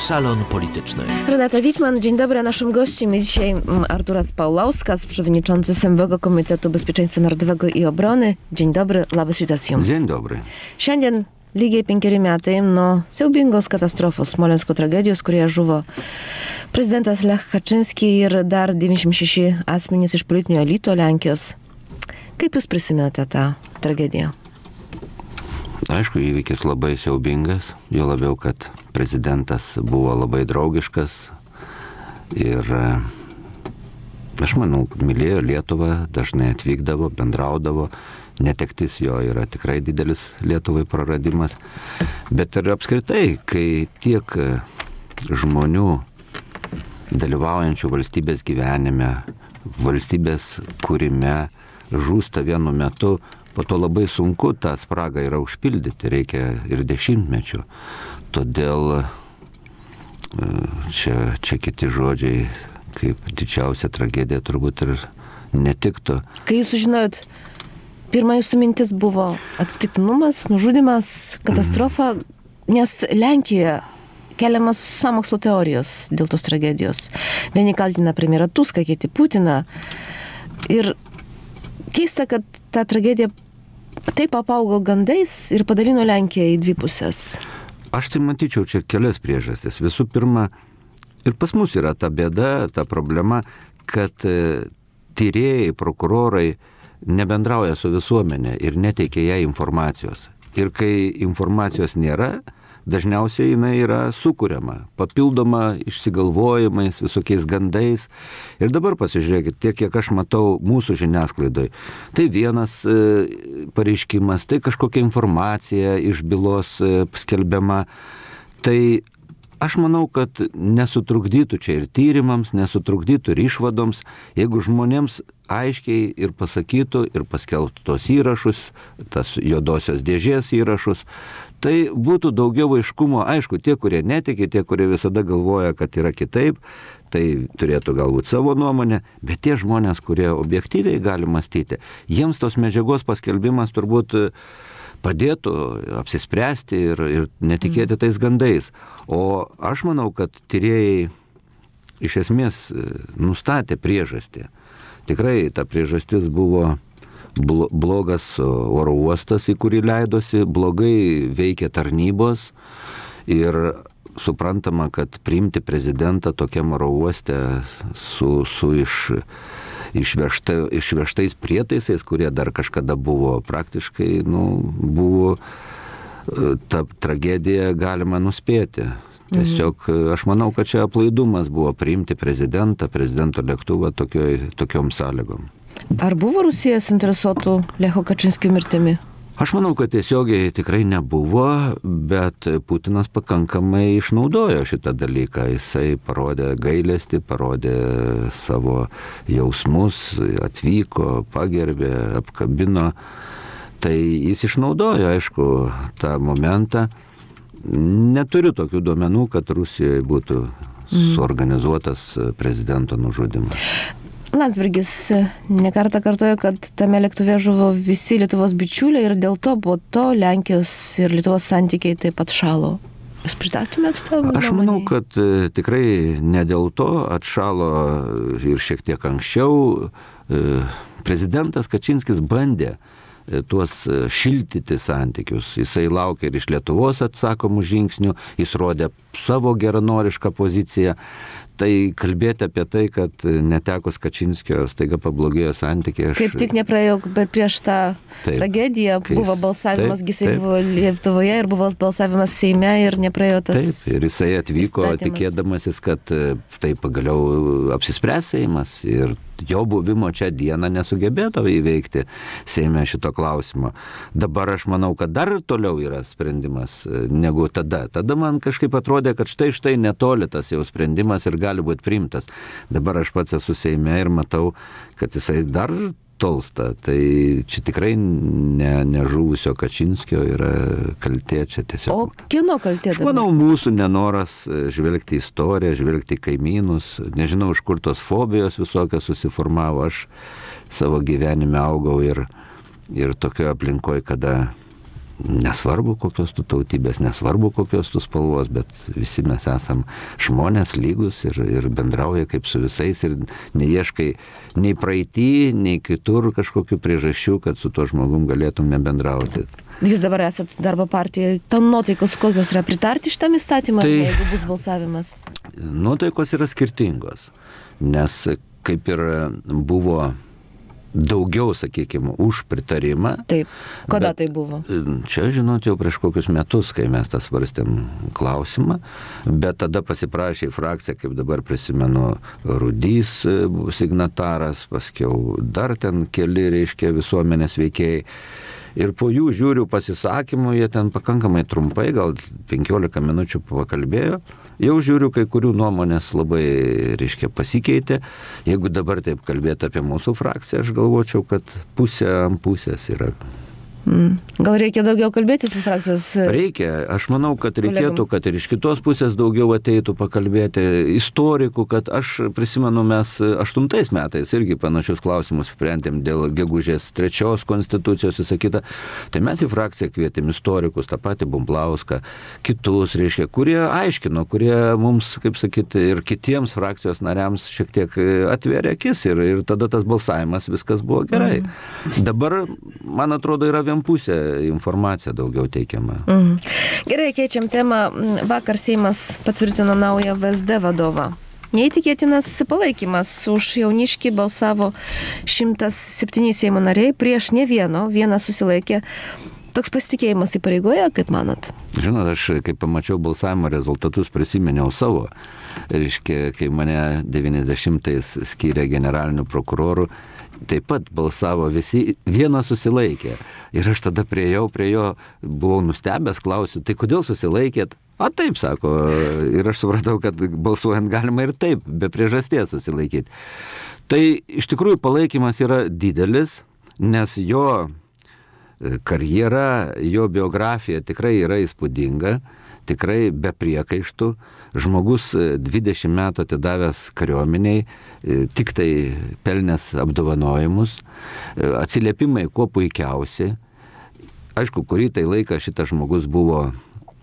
Salon Polityczny. Renata Wittmann, dzień dobry. A naszym gościem jest dzisiaj Arturas Paulauskas, przewodniczący Sejmowego Komitetu Bezpieczeństwa Narodowego i Obrony. Dzień dobry, labas rytas jums. Dzień dobry. Šiandien lygiai 5 metai nuo siaubingos katastrofos Smolensko tragedijos, kurioje žuvo prezidentas Lech Kaczynski ir dar 96 asmenys iš politinio elito Lenkijos. Kaip jūs prisimenate tą tragediją? Aišku, įvykis labai siaubingas, jo labiau, kad prezidentas buvo labai draugiškas ir aš manau, mylėjo Lietuvą, dažnai atvykdavo, bendraudavo, netektis jo yra tikrai didelis Lietuvai praradimas, bet ir apskritai, kai tiek žmonių dalyvaujančių valstybės gyvenime, valstybės kūrime žūsta vienu metu, po to labai sunku tą spragą yra užpildyti, reikia ir dešimtmečių. Todėl čia kiti žodžiai, kaip didžiausia tragedija turbūt ir netiktų. Kai jūs sužinojot, pirma jūsų mintis buvo atsitiktinumas, nužudymas, katastrofa, nes Lenkijoje keliamas sąmokslo teorijos dėl tos tragedijos. Vieni kaltina premjerą Tuską, kiti Putiną. Ir keista, kad ta tragedija taip apaugo gandais ir padalino Lenkiją į dvi pusės. Aš tai matyčiau čia kelias priežastis. Visų pirma, ir pas mus yra ta bėda, ta problema, kad tyrėjai, prokurorai nebendrauja su visuomenė ir neteikia jai informacijos. Ir kai informacijos nėra, dažniausiai jinai yra sukuriama, papildoma išsigalvojimais, visokiais gandais. Ir dabar pasižiūrėkit, tiek, kiek aš matau mūsų žiniasklaidoj, tai vienas pareiškimas, tai kažkokia informacija iš bylos skelbiama. Tai aš manau, kad nesutrukdytų čia ir tyrimams, nesutrukdytų ir išvadoms, jeigu žmonėms aiškiai ir pasakytų ir paskelbtų tos įrašus, tas juodosios dėžės įrašus, tai būtų daugiau aiškumo. Aišku, tie, kurie netiki, tie, kurie visada galvoja, kad yra kitaip, tai turėtų galbūt savo nuomonę, bet tie žmonės, kurie objektyviai gali mąstyti, jiems tos medžiagos paskelbimas turbūt padėtų apsispręsti ir netikėti tais gandais. O aš manau, kad tyrėjai iš esmės nustatė priežastį. Tikrai ta priežastis buvo blogas oro uostas, į kurį leidosi, blogai veikia tarnybos ir suprantama, kad priimti prezidentą tokiam oro uoste su išvežtais prietaisais, kurie dar kažkada buvo praktiškai, buvo ta tragedija galima nuspėti. Tiesiog aš manau, kad čia aplaidumas buvo priimti prezidento lėktuvą tokiom sąlygom. Ar buvo Rusija suinteresuotų Lecho Kačinskio mirtimi? Aš manau, kad tiesiogiai tikrai nebuvo, bet Putinas pakankamai išnaudojo šitą dalyką. Jisai parodė gailestį, parodė savo jausmus, atvyko, pagerbė, apkabino. Tai jis išnaudojo, aišku, tą momentą. Neturiu tokių duomenų, kad Rusijoje būtų suorganizuotas prezidento nužudymas. Landsbergis nekartą kartojo, kad tame lėktuve žuvo visi Lietuvos bičiuliai ir dėl to po to Lenkijos ir Lietuvos santykiai taip pat šalo. Jūs pritartumėt tą nuomonę? Aš manau, kad tikrai ne dėl to atšalo ir šiek tiek anksčiau. Prezidentas Kačinskis bandė tuos šiltyti santykius. Jisai laukia ir iš Lietuvos atsakomų žingsnių, jis rodė savo geranorišką poziciją. Tai kalbėti apie tai, kad netekus Kačinskio staiga pablogėjo santykiai. Kaip tik nepraėjo prieš tą tragediją, buvo balsavimas, jisai buvo Lietuvoje ir buvo balsavimas Seime ir nepraėjo tas. Taip, ir jisai atvyko tikėdamasis, kad tai pagaliau apsispręs Seimas ir jo buvimo čia dieną nesugebėto įveikti Seime šito klausimo. Dabar aš manau, kad dar toliau yra sprendimas negu tada. Tada man kažkaip atrodė, kad štai netoli tas jau sprendimas ir gali būti priimtas. Dabar aš pats esu Seime ir matau, kad jisai dar tolsta. Tai čia tikrai ne žuvusio Kačinskio yra kaltė čia tiesiog. O kieno kaltė dabar? Aš manau, mūsų nenoras žvelgti į istoriją, žvelgti į kaimynus. Nežinau, iš kur tos fobijos visokios susiformavo. Aš savo gyvenime augau ir tokioje aplinkoje, kada nesvarbu kokios tu tautybės, nesvarbu kokios tu spalvos, bet visi mes esam žmonės lygus ir bendrauja kaip su visais ir neieškai nei praeitį, nei kitur kažkokių priežasčių, kad su tuo žmogum galėtum nebendrauti. Jūs dabar esat darbo partijoje, tam nuotaikos kokios yra pritarti šitam įstatymą, jeigu bus balsavimas? Nuotaikos yra skirtingos, nes kaip ir buvo daugiau, sakykime, už pritarimą. Taip. Kada tai buvo? Čia, žinot, jau prieš kokius metus, kai mes tą svarstėm klausimą, bet tada pasiprašė į frakciją, kaip dabar prisimenu, Rudys signataras, paskiau dar ten keli, reiškia, visuomenės veikėjai. Ir po jų žiūriu pasisakymų, jie ten pakankamai trumpai, gal 15 minučių pakalbėjo. Jau žiūriu, kai kurių nuomonės labai, reiškia, pasikeitė. Jeigu dabar taip kalbėti apie mūsų frakciją, aš galvočiau, kad pusė ant pusės yra. Gal reikia daugiau kalbėti su frakcijos? Reikia. Aš manau, kad reikėtų, kad ir iš kitos pusės daugiau ateitų pakalbėti istorikų, kad aš prisimenu, mes 8 metais irgi panašius klausimus sprendėm dėl gegužės 3 konstitucijos įsakyta. Tai mes į frakciją kvietėm istorikus, tą patį Bumblauską, kitus, reiškia, kurie aiškino, kurie mums, kaip sakyti, ir kitiems frakcijos nariams šiek tiek atvėrė akis ir tada tas balsavimas, viskas buvo gerai. Dabar, man atrodo, yra pusė informacija daugiau teikiama. Gerai, keičiam temą. Vakar Seimas patvirtino naują VSD vadovą. Neįtikėtinas palaikymas. Už Jauniškį balsavo 107 Seimo nariai, prieš ne vieno, vienas susilaikė. Toks pasitikėjimas įpareigoja, kaip manot? Žinot, aš kai pamačiau balsavimo rezultatus, prisiminiau savo. Reiškia, kai mane 90-ais skyrė generaliniu prokuroru, taip pat balsavo visi, vienas susilaikė. Ir aš tada priejau prie jo, buvau nustebęs, klausiu, tai kodėl susilaikėt? A taip, sako, ir aš supratau, kad balsuojant galima ir taip, be priežasties susilaikyti. Tai iš tikrųjų palaikymas yra didelis, nes jo karjera, jo biografija tikrai yra įspūdinga, tikrai be priekaištų. Žmogus 20 metų atidavęs kariuomeniai, tik tai pelnęs apdovanojimus, atsiliepimai kuo puikiausi. Aišku, kurį tai laiką šitas žmogus buvo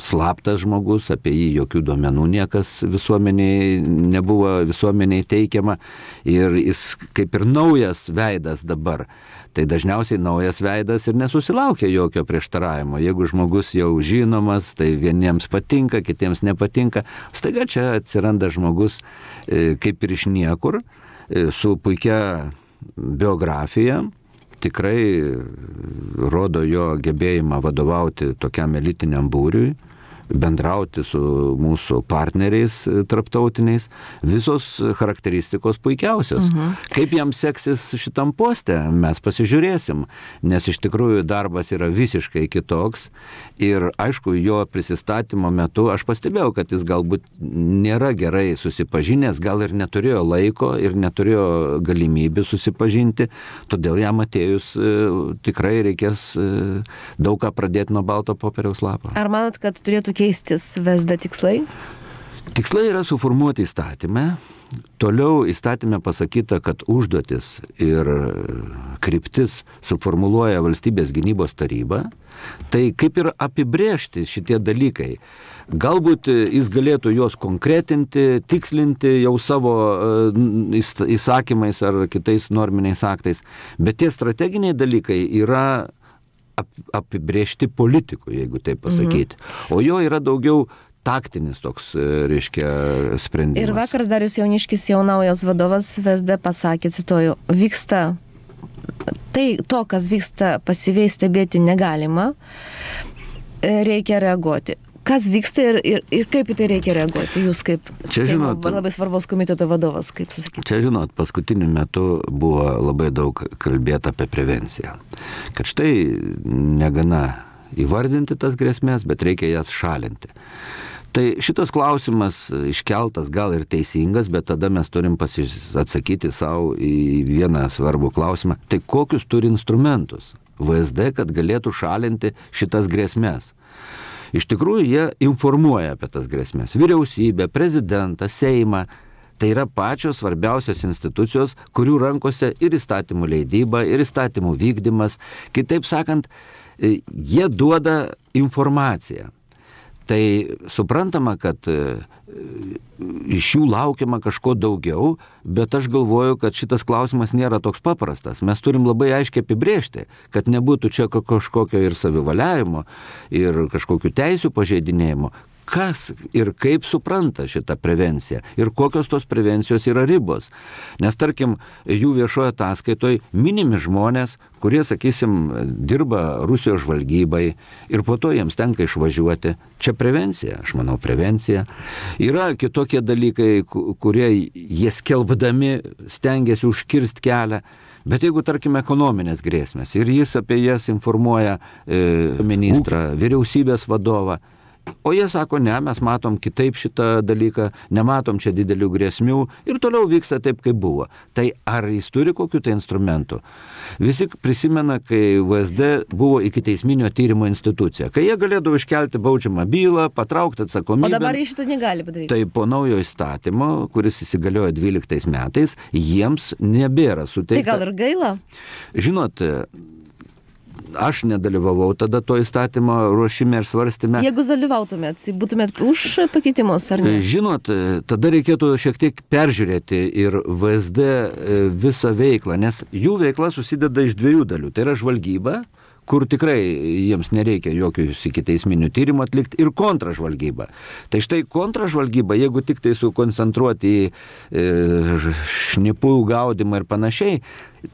slaptas žmogus, apie jį jokių duomenų niekas nebuvo visuomeniai teikiama ir jis kaip ir naujas veidas dabar. Tai dažniausiai naujas veidas ir nesusilaukia jokio prieštaravimo. Jeigu žmogus jau žinomas, tai vieniems patinka, kitiems nepatinka. Staiga čia atsiranda žmogus kaip ir iš niekur, su puikia biografija. Tikrai rodo jo gebėjimą vadovauti tokiam elitiniam būriui, bendrauti su mūsų partneriais tarptautiniais, visos charakteristikos puikiausios. Kaip jam seksis šitam poste, mes pasižiūrėsim, nes iš tikrųjų darbas yra visiškai kitoks ir aišku, jo prisistatymo metu aš pastebėjau, kad jis galbūt nėra gerai susipažinęs, gal ir neturėjo laiko ir neturėjo galimybių susipažinti, todėl jam atėjus tikrai reikės daug ką pradėti nuo balto popieriaus lapo. Ar manot, kad turėtų keistis VSD tikslai? Tikslai yra suformuoti įstatymę. Toliau įstatymė pasakyta, kad užduotis ir kryptis suformuluoja Valstybės gynybos taryba. Tai kaip ir apibrėžti šitie dalykai. Galbūt jis galėtų juos konkretinti, tikslinti jau savo įsakymais ar kitais norminiais aktais. Bet tie strateginiai dalykai yra apibrėžti politikų, jeigu taip pasakyti. O jo yra daugiau taktinis toks, reiškia, sprendimas. Ir vakar Darius Jauniškis, jau naujas vadovas VSD, pasakė, cituoju, to, kas vyksta, pasyviai stebėti negalima, reikia reaguoti. Kas vyksta ir kaip į tai reikia reaguoti? Jūs kaip Seimo labai svarbus komiteto vadovas, kaip susakyti? Čia, žinot, paskutiniu metu buvo labai daug kalbėta apie prevenciją. Kad štai negana įvardinti tas grėsmės, bet reikia jas šalinti. Tai šitas klausimas iškeltas gal ir teisingas, bet tada mes turim atsakyti savo į vieną svarbų klausimą. Tai kokius turi instrumentus VSD, kad galėtų šalinti šitas grėsmės? Iš tikrųjų, jie informuoja apie tas grėsmės. Vyriausybė, prezidentas, Seimą. Tai yra pačios svarbiausios institucijos, kurių rankose ir įstatymų leidyba, ir įstatymų vykdymas. Kitaip sakant, jie duoda informaciją. Tai suprantama, kad iš jų laukiama kažko daugiau, bet aš galvoju, kad šitas klausimas nėra toks paprastas. Mes turim labai aiškiai apibrėžti, kad nebūtų čia kažkokio ir savivaliavimo, ir kažkokių teisių pažeidinėjimo. Kas ir kaip supranta šitą prevenciją ir kokios tos prevencijos yra ribos. Nes, tarkim, jų viešoje ataskaitoje minimi žmonės, kurie, sakysim, dirba Rusijos žvalgybai ir po to jiems tenka išvažiuoti. Čia prevencija, aš manau, prevencija. Yra kitokie dalykai, kurie jie skelbdami stengiasi užkirsti kelią. Bet jeigu, tarkim, ekonominės grėsmės ir jis apie jas informuoja ministrą, vyriausybės vadovą, o jie sako, ne, mes matom kitaip šitą dalyką, nematom čia didelių grėsmių ir toliau vyksta taip, kaip buvo. Tai ar jis turi kokių tai instrumentų? Visi prisimena, kai VSD buvo ikiteisminio tyrimo institucija, kai jie galėdavo iškelti baudžiamą bylą, patraukti atsakomybę. O dabar jie šito negali padaryti. Tai po naujo įstatymo, kuris įsigaliojo 12 metais, jiems nebėra suteikta. Tai gal ir gaila? Žinot, aš nedalyvavau tada to įstatymo ruošime ir svarstyme. Jeigu dalyvautumėt, būtumėt už pakeitimus, ar ne? Žinot, tada reikėtų šiek tiek peržiūrėti ir VSD visą veiklą, nes jų veikla susideda iš dviejų dalių. Tai yra žvalgyba, kur tikrai jiems nereikia jokių ikiteisminių tyrimų atlikti, ir kontražvalgyba. Tai štai kontražvalgyba, jeigu tik tai sukoncentruoti į šnipų gaudymą ir panašiai,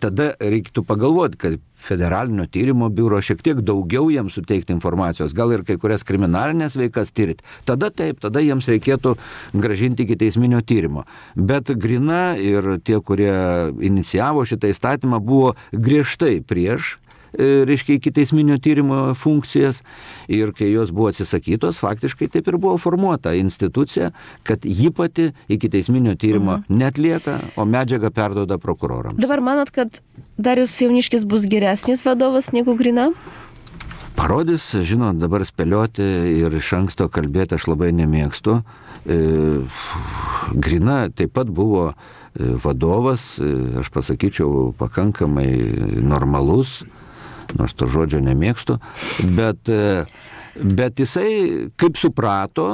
tada reiktų pagalvoti, kad federalinio tyrimo biuro šiek tiek daugiau jiems suteikti informacijos, gal ir kai kurias kriminalinės veikas tirti. Tada taip, tada jiems reikėtų gražinti iki teisminio tyrimo. Bet Grina ir tie, kurie inicijavo šitą įstatymą, buvo griežtai prieš, reiškia, iki teisminio tyrimo funkcijas, ir kai jos buvo atsisakytos, faktiškai taip ir buvo formuota institucija, kad ji pati iki teisminio tyrimo netlieka, o medžiagą perduoda prokurorams. Dabar manot, kad Darius Jauniškis bus geresnis vadovas negu Grina? Parodys, žinot, dabar spėlioti ir iš anksto kalbėti aš labai nemėgstu. Grina taip pat buvo vadovas, aš pasakyčiau, pakankamai normalus, nors to žodžio nemėgstu, bet jisai, kaip suprato,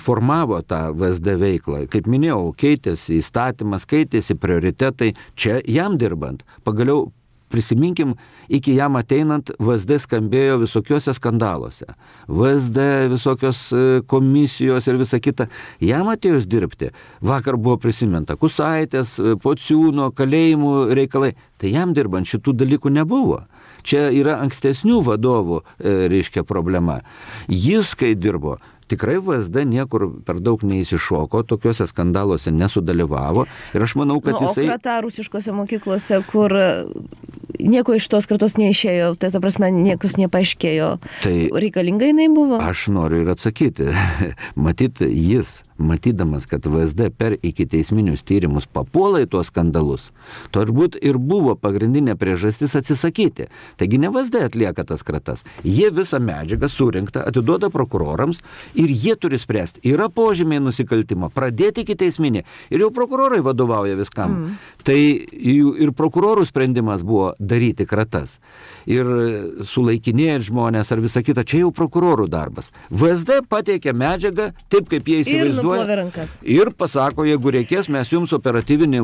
formavo tą VSD veiklą. Kaip minėjau, keitėsi įstatymas, keitėsi prioritetai, čia jam dirbant. Pagaliau, prisiminkim, iki jam ateinant, VSD skambėjo visokiuose skandaluose. VSD, visokios komisijos ir visa kita. Jam atėjus dirbti, vakar buvo prisiminta Kusaitės, Pociūno, kalėjimų reikalai. Tai jam dirbant šitų dalykų nebuvo. Čia yra ankstesnių vadovų, reiškia, problema. Jis, kai dirbo, tikrai VSD niekur per daug neįsišoko, tokiuose skandaluose nesudalyvavo. Ir aš manau, kad jisai... O krata rusiškose mokyklose, kur nieko iš tos kratos neišėjo, tai ta prasme niekas nepaaiškėjo. Tai reikalinga jinai buvo? Aš noriu ir atsakyti. Matyt, jis, matydamas, kad VSD per ikiteisminius tyrimus papuola į tuos skandalus, turbūt ir buvo pagrindinė priežastis atsisakyti. Taigi ne VSD atlieka tas kratas. Jie visą medžiagą surinktą atiduoda prokurorams ir jie turi spręsti. Yra požymiai nusikaltimo, pradėti ikiteisminį ir jau prokurorai vadovauja viskam. Tai ir prokurorų sprendimas buvo daryti kratas. Ir sulaikinėjant žmonės ar visą kitą, čia jau prokurorų darbas. VSD pateikia medžiagą taip, kaip jie įsivaizduoja. Ir pasako, jeigu reikės, mes jums operatyvinį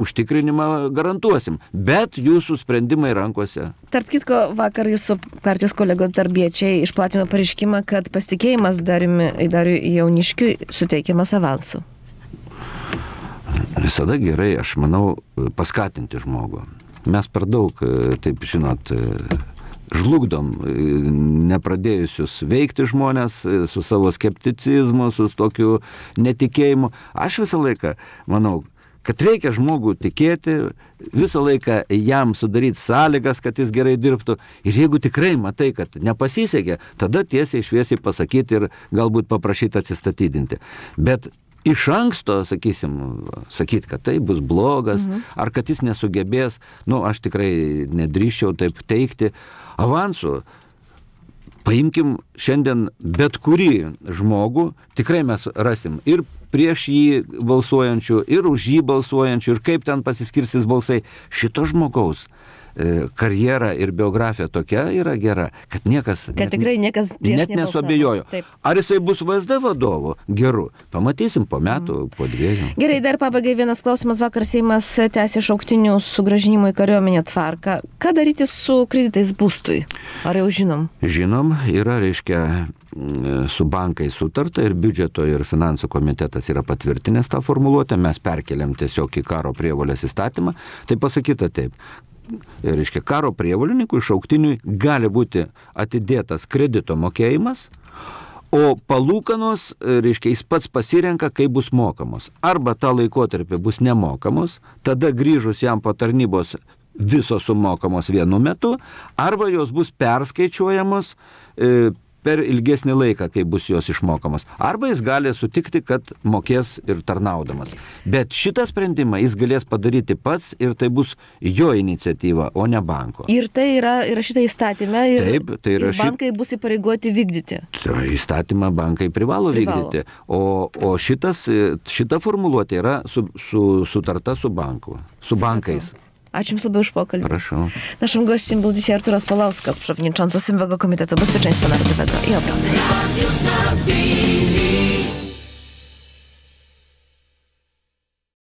užtikrinimą garantuosim. Bet jūsų sprendimai rankose. Tarp kitko, vakar jūsų partijos kolegos darbiečiai išplatino pareiškimą, kad pasitikėjimas Dariui Jauniškiui suteikiamas avansu. Visada gerai, aš manau, paskatinti žmogų. Mes per daug, taip žinot, žlugdom nepradėjusius veikti žmonės su savo skepticizmu, su tokiu netikėjimu. Aš visą laiką manau, kad reikia žmogų tikėti, visą laiką jam sudaryti sąlygas, kad jis gerai dirbtų. Ir jeigu tikrai matai, kad nepasisekė, tada tiesiai šviesiai pasakyti ir galbūt paprašyti atsistatydinti. Bet iš anksto, sakysim, sakyti, kad tai bus blogas, ar kad jis nesugebės, aš tikrai nedrįščiau taip teikti. Avansų, paimkim šiandien bet kurį žmogų, tikrai mes rasim ir prieš jį balsuojančių, ir už jį balsuojančių, ir kaip ten pasiskirsis balsai. Šito žmogaus karjera ir biografija tokia yra gera, kad niekas... Kad tikrai niekas prieš net nesuabejojo. Ar jisai bus VSD vadovu? Geru. Pamatysim po metų, po 2. Gerai, dar pabaigai vienas klausimas. Vakar Seimas tęsė šauktinių sugrąžinimo į kariuomenę tvarką. Ką daryti su kreditais būstui? Ar jau žinom? Žinom, yra, reiškia, su bankai sutarta ir biudžeto ir finansų komitetas yra patvirtinęs tą formuluotę. Mes perkeliam tiesiog į karo prievolės įstatymą. Tai pasakyta taip. Reiškia, karo prievolininkui, šauktiniui gali būti atidėtas kredito mokėjimas, o palūkanos, reiškia, jis pats pasirenka, kaip bus mokamos. Arba tą laikotarpį bus nemokamos, tada grįžus jam po tarnybos visos sumokamos vienu metu, arba jos bus perskaičiuojamos per ilgesnį laiką, kai bus jos išmokamos. Arba jis gali sutikti, kad mokės ir tarnaudamas. Bet šitą sprendimą jis galės padaryti pats ir tai bus jo iniciatyva, o ne banko. Ir tai yra įrašyta įstatyme ir, taip, tai ir bankai bus įpareigoti vykdyti. Įstatymą bankai privalo vykdyti, o šita formuluotė yra sutarta su banku, su bankais. Ačiū Jums labai už pokalbį. Proszę. Naszym gościem był dzisiaj Arturas Polauskas, przewodniczący Sejmowego Komitetu Bezpieczeństwa Narodowego i Obrony.